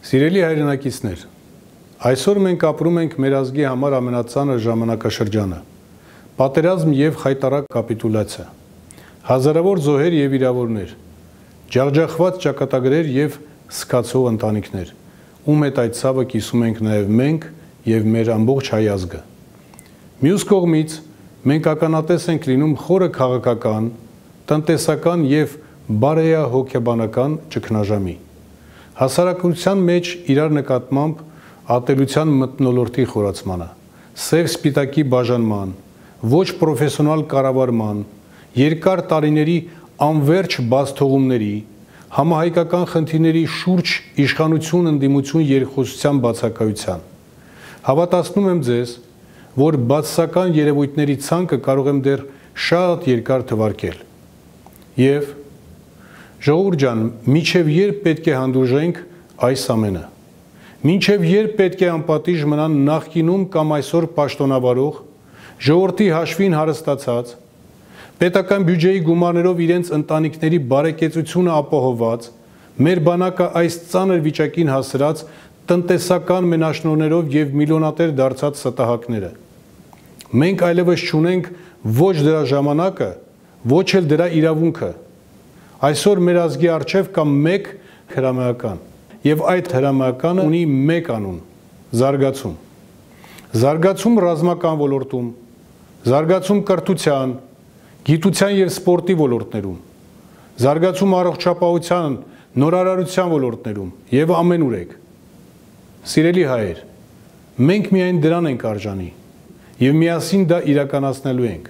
Սիրելի հայրենակիցներ, այսօր մենք ապրում ենք մեր ազգի համար ամենածանր ժամանակաշրջանը, պատերազմ և խայտառակ կապիտուլյացիա, հազարավոր զոհեր և վիրավորներ, ջախջախված ճակատագրեր և սկացող ընտանիքներ, ում հետ այդ ցավը կիսում ենք նաև մենք և մեր ամբողջ հայ ազգը։ Մյուս կողմից, մենք ականատես ենք լինում խորը քաղաքական, տնտեսական և բարոյահոգեբանական ճգնաժամի, հասարակության մեջ իրար նկատմամբ ատելության մթնոլորտի խորացմանը, սև սպիտակի բաժանման, ոչ պրոֆեսիոնալ կառավարման, երկար տարիների անվերջ բազթողումների, համահայկական խնդիրների շուրջ իշխանություն ընդդիմություն երկխոսության բացակայության։ Հավատացնում եմ ձեզ, որ բացասական երևույթների ցանկը կարող եմ դեռ շատ երկար թվարկել։ Եվ ժողովուրդ ջան, մինչև երբ պետք է հանդուրժենք այս ամենը։ Մինչև երբ պետք է անպատիժ մնան նախկինում կամ այսօր պաշտոնավարող, ժողովրդի հաշվին հարստացած, պետական բյուջեի գումարներով իրենց ընտանիքների բարեկեցությունը ապահովված, մեր բանակը այս ծանր վիճակին հասրած տնտեսական մենաշնորհներով և միլիոնատեր դարձած ստահակները։ Մենք այլևս չունենք ոչ դրա ժամանակը, ոչ էլ դրա իրավունքը։ Այսօր մեր ազգի առջև կա մեկ հրամայական, և այդ հրամայականը ունի մեկ անուն՝ զարգացում։ Զարգացում ռազմական ոլորտում, զարգացում կրթության, գիտության և սպորտի ոլորտներում, զարգացում առողջապահության, նորարարության ոլորտներում և ամենուրեք։ Սիրելի հայեր, մենք միայն դրան ենք արժանի և միասին դա իրականացնելու ենք։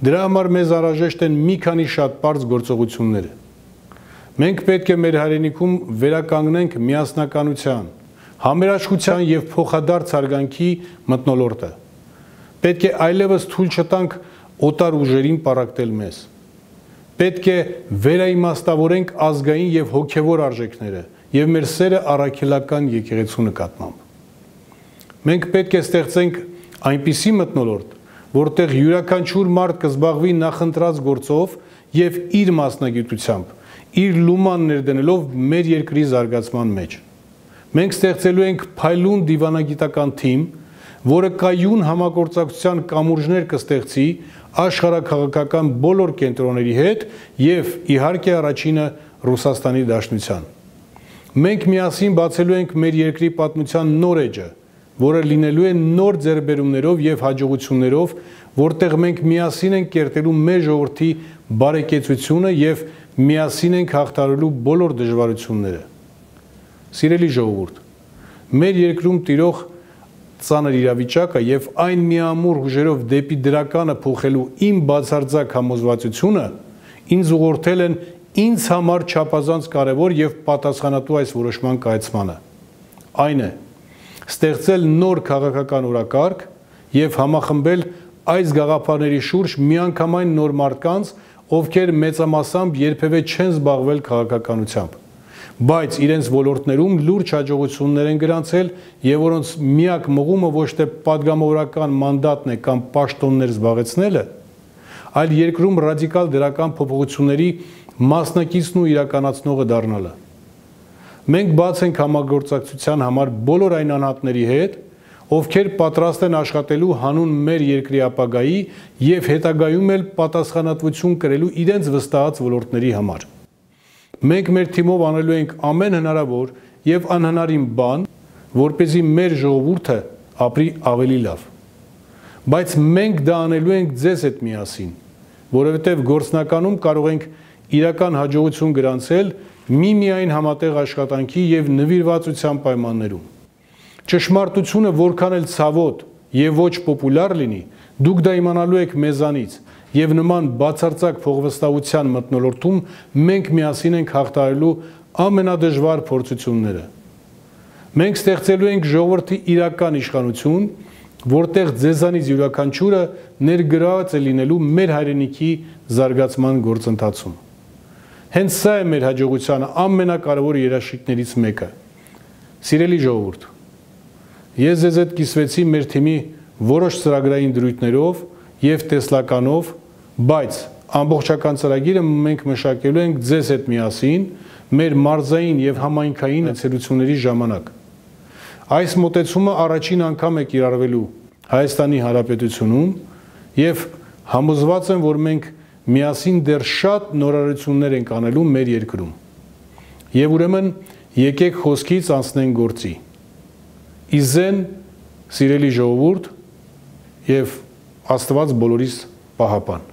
Դրա համար մեզ անհրաժեշտ են մի քանի շատ պարզ գործողությունները։ Մենք պետք է մեր հայրենիքում վերականգնենք միասնականության, համերաշխության և փոխադարձ հարգանքի մթնոլորտը։ Պետք է այլևս թույլ չտանք օտար ուժերին պառակտել մեզ։ Պետք է վերաիմաստավորենք ազգային և հոգևոր արժեքները և մեր սերը առաքելական եկեղեցու նկատմամբ։ Մենք պետք է ստեղծենք այնպիսի մթնոլորտ, որտեղ յուրաքանչյուր մարդ կզբաղվի նախընտրած գործով և իր մասնագիտությամբ, իր լուման ներդնելով մեր երկրի զարգացման մեջ։ Մենք ստեղծելու ենք փայլուն դիվանագիտական թիմ, որը կայուն համագործակցության կամուրջներ կստեղծի աշխարհաքաղաքական բոլոր կենտրոնների հետ և իհարկե առաջինը Ռուսաստանի Դաշնության։ Մենք միասին բացելու ենք մեր երկրի պատմության նոր էջը, որը լինելու է նոր ձեռքբերումներով և հաջողություններով, որտեղ մենք միասին ենք կերտելու մեր ժողովրդի բարեկեցությունը և միասին ենք հաղթահարելու բոլոր դժվարությունները։ Սիրելի ժողովուրդ, մեր երկրում տիրող ծանր իրավիճակը և այն միամուռ ուժերով դեպի դրականը փոխելու իմ բացարձակ համոզվածությունը ինձ ուղղորդել են ինձ համար չափազանց կարևոր և պատասխանատու այս որոշման կայացմանը։ Այն է, ստեղծել նոր քաղաքական օրակարգ և համախմբել այս գաղափարների շուրջ միանգամայն նոր մարդկանց, ովքեր մեծամասամբ երբևէ չեն զբաղվել քաղաքականությամբ, բայց իրենց ոլորտներում լուրջ հաջողություններ են գրանցել և որոնց միակ մղումը ոչ թե պատգամավորական մանդատն է կամ պաշտոններ զբաղեցնելը, այլ երկրում ռադիկալ դրական փոփոխությունների մասնակիցն ու իրականացնողը դառնալը։ Մենք բաց ենք համագործակցության համար բոլոր այն անհատների հետ, ովքեր պատրաստ են աշխատելու հանուն մեր երկրի ապագայի և հետագայում էլ պատասխանատվություն կրելու իրենց վստահած ոլորտների համար։ Մենք մեր թիմով անելու ենք ամեն հնարավոր և անհնարին բան, որպեսզի մեր ժողովուրդը ապրի ավելի լավ։ Բայց մենք դա անելու ենք ձեզ հետ միասին, որովհետև գործնականում կարող ենք իրական հաջողություն գրանցել միմիայն համատեղ աշխատանքի և նվիրվածության պայմաններում։ Ճշմարտությունը որքան էլ ցավոտ և ոչ պոպուլյար լինի, դուք դա իմանալու եք մեզանից և նման բացարձակ փողվստահության մթնոլորտում մենք միասին ենք հաղթահարելու ամենադժվար փորձությունները։ Մենք ստեղծելու ենք ժողովրդի իրական իշխանություն, որտեղ ձեզանից յուրաքանչյուրը ներգրաված է լինելու մեր հայրենիքի զարգացման գործընթացում։ Հենց սա է մեր հաջողության ամենակարևոր երաշխիքներից մեկը։ Սիրելի ժողովուրդ, ես ձեզ հետ կիսվեցի մեր թիմի որոշ ծրագրային դրույթներով և տեսլականով, բայց ամբողջական ծրագիրը մենք մշակելու ենք ձեզ հետ միասին մեր մարզային եւ համայնքային ցելությունների ժամանակ։ Այս մոտեցումը առաջին անգամ է կիրառվելու Հայաստանի Հանրապետությունում եւ համոզված եմ, որ մենք միասին դեռ շատ նորարարություններ ենք անելու մեր երկրում։ Եվ ուրեմն եկեք խոսքից անցնենք գործի։ Իզեն, սիրելի ժողովուրդ, եւ Աստված բոլորիս պահապան։